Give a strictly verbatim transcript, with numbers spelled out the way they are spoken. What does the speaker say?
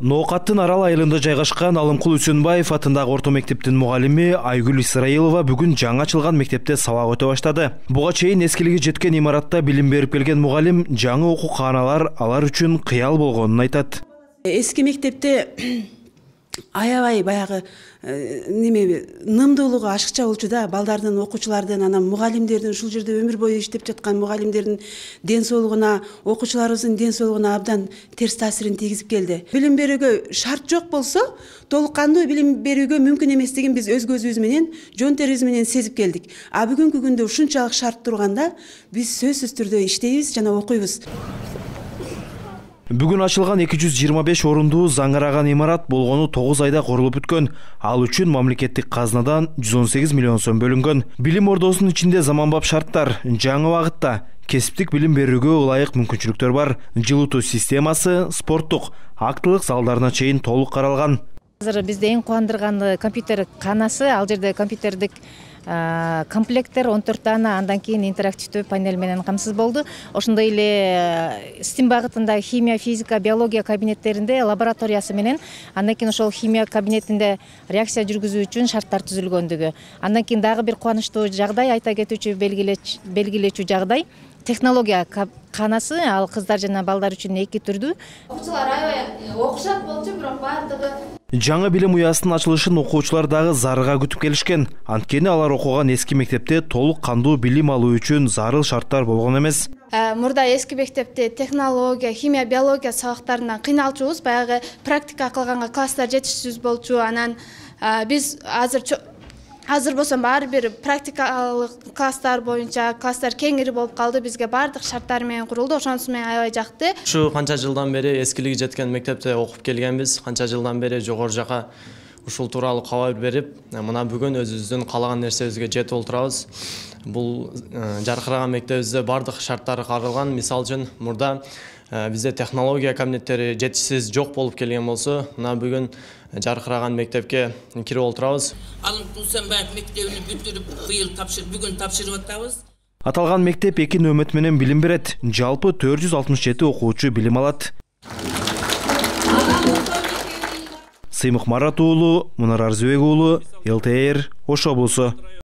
Ноокаттын Арал айылында жайгашкан Алымкул Үсөнбаев атындагы орто мектептин мугалими Айгүл Исраилова бүгүн жаңы ачылган мектепте сабак өтө баштады. Буга чейин эскилиги жеткен имаратта билим берип келген мугалим жаңы окуу кааналар алар үчүн кыял болгонун айтат. Эски мектепте аябай баягы неме нымдуулугу ашыкча болчу да, балдардын, окуучулардын, анан мугалимдердин, ушул жерде өмүр бою иштеп жаткан мугалимдердин ден соолугуна, окуучуларыбыздын ден соолугуна абдан терс таасирин тийгизип келди. Билим берүүгө шарт жок болсо, толук кандуу билим берүүгө мүмкүн эместигин биз өз көзүбүз менен, жон терибиз менен сезип келдик. А бүгүнкү күндө ушунчалык шарт турганда биз сөзсүз түрдө иштейбиз жана окуйбуз. Бүгүн ачылган эки жүз жыйырма беш орундуу заңыраган имарат болгону тогуз айда курулуп бүткөн. Ал үчүн мамлекеттик казнадан жүз он сегиз миллион сом бөлүнгөн. Билим ордосунун ичинде заманбап шарттар, жаңы убакытта кесиптик билим берүүгө ылайык мүмкүнчүлүктөр бар. Жылытуу системасы, спорттук, актылык залдарына чейин толук каралган. Азыр бизде эң кубандырганы компьютер канасы, ал жерде компьютердик комплекттер он төрт дана, андан кийин интерактивдүү панель менен камсыз болду. Ошондой эле стим багытындагы химия, физика, биология кабинеттеринде лабораториясы менен, андан кийин ошол химия кабинетинде реакция жүргүзүү үчүн шарттар түзүлгөндүгү. Андан кийин дагы бир кубанычтуу жагдай, айта кетүүчү белгилечүү жагдай, технология канасы, ал кыздар жана балдар үчүн эки түрдүү. Окуучулар аябай окушат болчу, бирок бардыгы Жаңы билим уясынын ачылышын окуучулар дагы зарыга күтүп келишкен. Анткени алар окуган эски мектепте толук кандуу билим алуу үчүн зарыл шарттар болгон эмес. Мурда эски мектепте технология, химия, биология сабактарынан кыйналчубуз. Баягы практика кылганга класстар жетишсиз болчу. Анан биз азыр Азыр болсо баары бир практикалык класстар боюнча класстар кеңири болуп калды. Бизге баардык шарттар менен курулду. Ошонусу менен аябай жакты. Ушу канча жылдан бери эскилиги жеткен мектепте окуп келгенбиз. Канча жылдан бери жогору жака ушул тууралуу кабар берип, мына бүгүн өзүбүздүн каалаган нерсебизге жетип отурабыз. Бул жаркыраган мектебибизде баардык шарттары каралган. Мисалы үчүн мурда бизде технология кабинеттери жетишсиз жок болуп келген болсо, мына бүгүн жаркыраган мектепке кирип отурабыз. Алымкул Үсөнбаев мектебин бүтүрүп, быйыл тапшыр, бүгүн тапшырып атабыз. Аталган мектеп эки нөмөт менен билим берет. Жалпы төрт жүз алтымыш жети окуучу билим алат. Сыймык Марат уулу, Мунар Арзыбек уулу, эл тэ эр, Ош облусу.